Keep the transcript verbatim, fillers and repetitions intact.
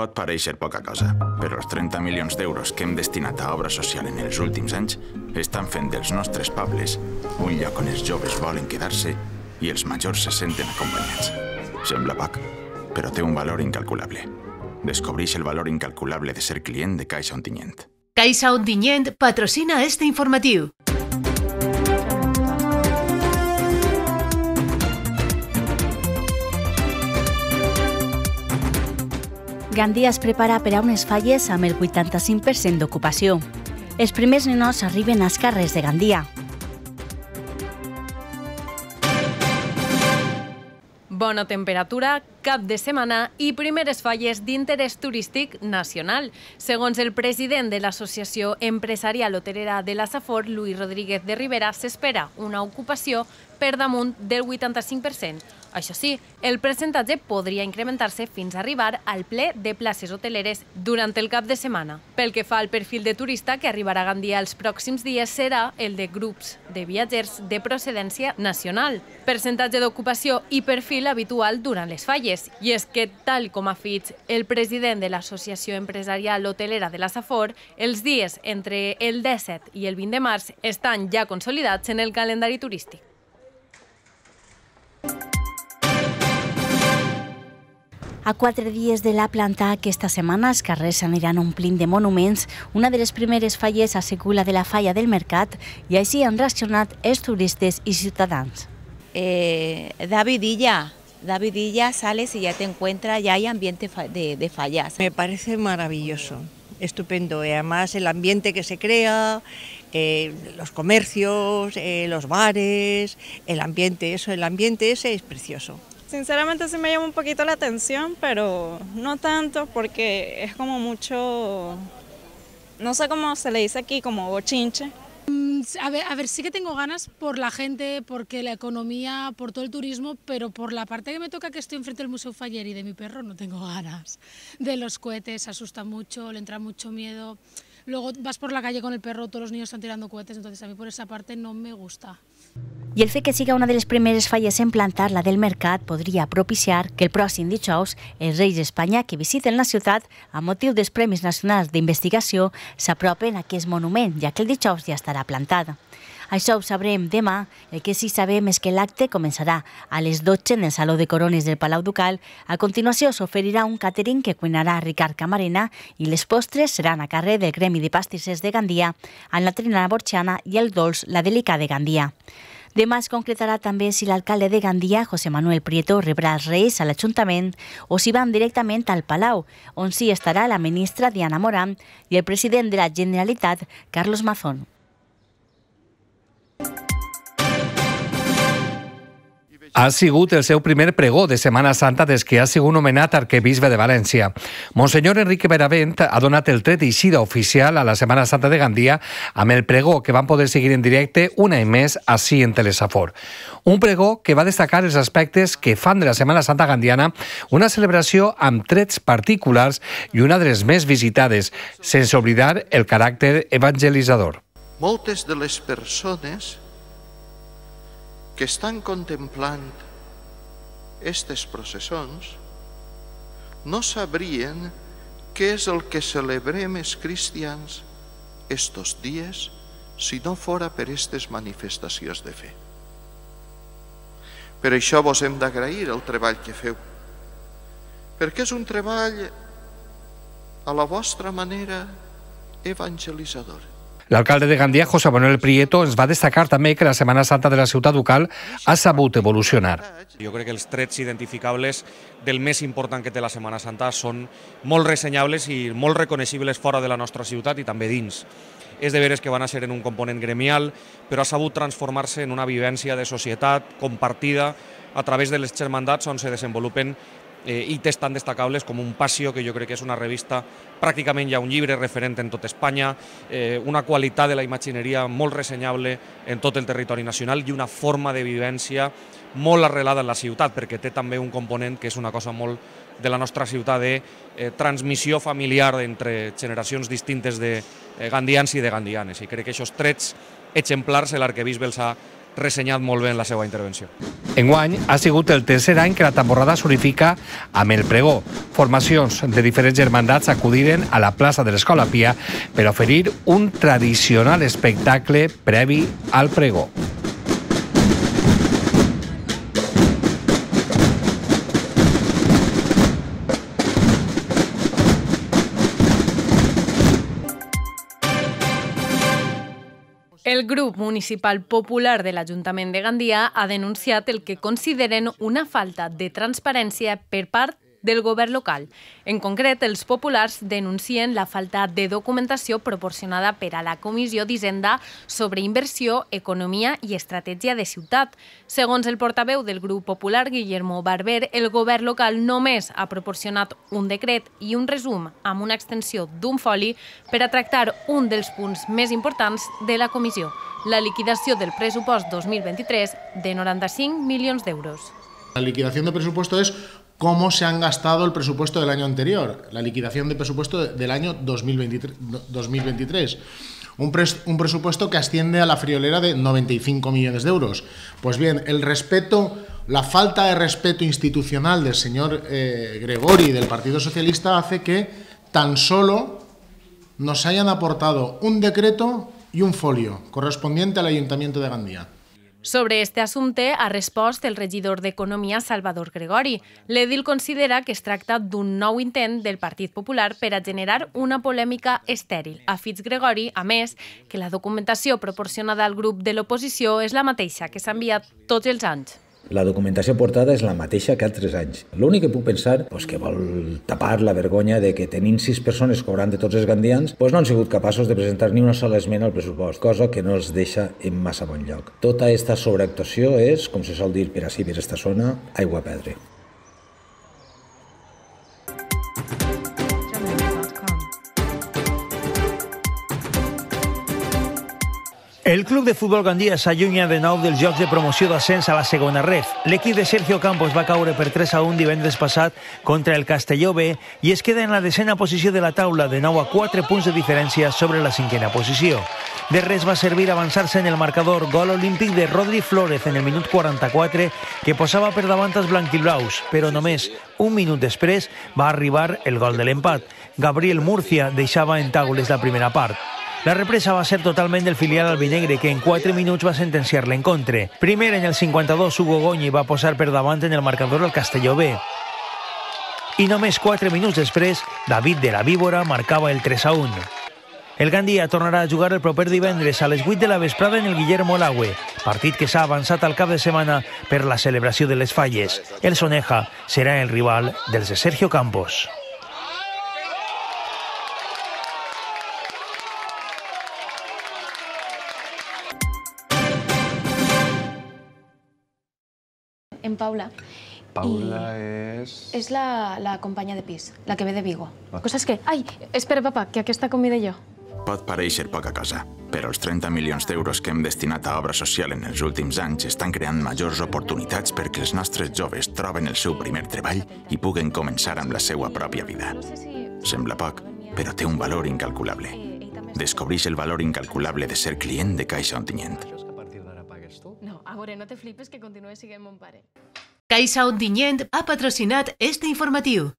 Pot pareixer poca cosa, però els trenta milions d'euros que hem destinat a obra social en els últims anys estan fent dels nostres pobles un lloc on els joves volen quedar-se i els majors se senten acompanyats. Sembla poc, però té un valor incalculable. Descobreix el valor incalculable de ser client de Caixa Ontinyent. Caixa Ontinyent patrocina este informatiu. Gandia es prepara per a unes falles amb el vuitanta-cinc per cent d'ocupació. Els primers ninots arriben als carrers de Gandia. Bona temperatura, cap de setmana i primeres falles d'interès turístic nacional. Segons el president de l'Associació Empresarial Hotelera de la Safor, Luis Rodríguez de Rivera, s'espera una ocupació per damunt del vuitanta-cinc per cent. Això sí, el percentatge podria incrementar-se fins a arribar al ple de places hoteleres durant el cap de setmana. Pel que fa al perfil de turista que arribarà a Gandia els pròxims dies serà el de grups de viatgers de procedència nacional. Percentatge d'ocupació i perfil habitual durant les falles. I és que, tal com ha fet el president de l'Associació Empresarial Hotelera de la Safor, els dies entre el disset i el vint de març estan ja consolidats en el calendari turístic. A quatre dies de la planta, aquesta setmana els carrers s'aniran omplint de monuments. Una de les primeres falles ha sigut la de la falla del Mercat i així han reaccionat els turistes i ciutadans. Eh, David Illa, David Illa, sales y ya te encuentras, ya hay ambiente de, de fallas. Me parece maravilloso, estupendo. Y además el ambiente que se crea, eh, los comercios, eh, los bares, el ambiente, eso, el ambiente ese es precioso. Sinceramente sí me llama un poquito la atención, pero no tanto porque es como mucho, no sé cómo se le dice aquí, como bochinche. A ver, a ver, sí que tengo ganas por la gente, porque la economía, por todo el turismo, pero por la parte que me toca, que estoy enfrente del Museo Faller y de mi perro, no tengo ganas. De los cohetes, asusta mucho, le entra mucho miedo. Luego vas por la calle con el perro, todos los niños están tirando cohetes, entonces a mí por esa parte no me gusta. I el fet que siga una de les primeres falles en plantar, la del Mercat, podria propiciar que el pròxim dijous els Reis d'Espanya que visiten la ciutat amb motiu dels Premis Nacionals d'Investigació s'apropen a aquest monument, ja que el dijous ja estarà plantat. Això ho sabrem demà. El que sí sabem és que l'acte començarà a les dotze en el Saló de Corones del Palau Ducal. A continuació s'oferirà un càtering que cuinarà Ricard Camarena i les postres seran a càrrec del Gremi de Pastissers de Gandia, amb la trinada borxiana i el dolç, la Delica de Gandia. Demà es concretarà també si l'alcalde de Gandia, José Manuel Prieto, rebrà els Reis a l'Ajuntament o si van directament al Palau, on sí estarà la ministra Diana Morán i el president de la Generalitat, Carlos Mazón. Ha sigut el seu primer pregó de Setmana Santa des que ha sigut nomenat arquebisbe de València. Monsenyor Enrique Benavent ha donat el tret d'eixida oficial a la Setmana Santa de Gandia amb el pregó que van poder seguir en directe un any més ací en Telesafor. Un pregó que va destacar els aspectes que fan de la Setmana Santa gandiana una celebració amb trets particulars i una de les més visitades, sense oblidar el caràcter evangelitzador. Moltes de les persones que estan contemplant aquestes processons no sabrien què és el que celebrem els cristians estos dies si no fora per aquestes manifestacions de fe. Per això vos hem d'agrair el treball que feu, perquè és un treball a la vostra manera evangelitzadora. L'alcalde de Gandia, José Manuel Prieto, ens va destacar també que la Setmana Santa de la ciutat ducal ha sabut evolucionar. Jo crec que els trets identificables del més important que té la Setmana Santa són molt ressenyables i molt reconeixibles fora de la nostra ciutat i també dins. És de veres que van a ser en un component gremial, però ha sabut transformar-se en una vivència de societat compartida a través de les germandats on se desenvolupen Eh, i tests tan destacables com un Passió, que jo crec que és una revista, pràcticament ja un llibre referent en tot Espanya, eh, una qualitat de la imagineria molt ressenyable en tot el territori nacional i una forma de vivència molt arrelada en la ciutat, perquè té també un component que és una cosa molt de la nostra ciutat de eh, transmissió familiar entre generacions distintes de eh, gandians i de gandianes. I crec que aquests trets exemplars l'arquebisbe els ha ressenyat molt bé en la seva intervenció. Enguany ha sigut el tercer any que la temporada s'unifica amb el pregó. Formacions de diferents germandats acudiren a la plaça de l'Escola Pia per oferir un tradicional espectacle previ al pregó. El grup municipal popular de l'Ajuntament de Gandia ha denunciat el que consideren una falta de transparència per part del govern local. En concret, els populars denuncien la falta de documentació proporcionada per a la Comissió d'Hisenda sobre Inversió, Economia i Estratègia de Ciutat. Segons el portaveu del grup popular, Guillermo Barber, el govern local només ha proporcionat un decret i un resum amb una extensió d'un foli per a tractar un dels punts més importants de la comissió, la liquidació del pressupost dos mil vint-i-tres de noranta-cinc milions d'euros. La liquidación de presupuesto es cómo se han gastado el presupuesto del año anterior, la liquidación de presupuesto del año dos mil veintitrés. Un, pres, un presupuesto que asciende a la friolera de noventa y cinco millones de euros. Pues bien, el respeto, la falta de respeto institucional del señor eh, Gregori del Partido Socialista hace que tan solo nos hayan aportado un decreto y un folio correspondiente al Ayuntamiento de Gandia. Sobre este assumpte ha respost el regidor d'Economia Salvador Gregori. L'edil considera que es tracta d'un nou intent del Partit Popular per a generar una polèmica estèril. Afits Gregori, a més, que la documentació proporcionada al grup de l'oposició és la mateixa que s'ha enviat tots els anys. La documentació portada és la mateixa que altres anys. L'únic que puc pensar és que vol tapar la vergonya de que tenint sis persones cobrant de tots els gandians no han sigut capaços de presentar ni una sola esmena al pressupost, cosa que no els deixa en massa bon lloc. Tota aquesta sobreactuació és, com se sol dir per ací, per esta zona, aigua a perdre. El club de futbol Gandia s'allunya de nou dels jocs de promoció d'ascens a la segona ref. L'equip de Sergio Campos va caure per tres a un divendres passat contra el Castelló B i es queda en la desena posició de la taula, de nou a quatre punts de diferència sobre la cinquena posició. De res va servir avançar-se en el marcador gol olímpic de Rodri Flórez en el minut quaranta-quatre, que posava per davant els blanquiblaus, però només un minut després va arribar el gol de l'empat. Gabriel Murcia deixava en taules la primera part. La represa va ser totalment del filial albinegre, que en quatre minuts va sentenciar l'encontre. Primer, en el cinquanta-dos, Hugo Goñi va posar per davant en el marcador al Castelló B. I només quatre minuts després, David de la Víbora marcava el tres a un. El Gandia tornarà a jugar el proper divendres a les vuit de la vesprada en el Guillermo Lagüe, partit que s'ha avançat al cap de setmana per la celebració de les falles. El Soneja serà el rival dels de Sergio Campos. En Paula. Paula és... És la, la companya de pis, la que ve de Vigo. Ah. Coses que... Ai, espera, papa, que aquesta convida jo. Pot pareixer poca cosa, però els trenta milions d'euros que hem destinat a obra social en els últims anys estan creant majors oportunitats perquè els nostres joves troben el seu primer treball i puguen començar amb la seva pròpia vida. Sembla poc, però té un valor incalculable. Descobreix el valor incalculable de ser client de Caixa Ontinyent. No, a veure, no te flipes que continue siguent mon pare. Caixa Ontinyent ha patrocinat este informatiu.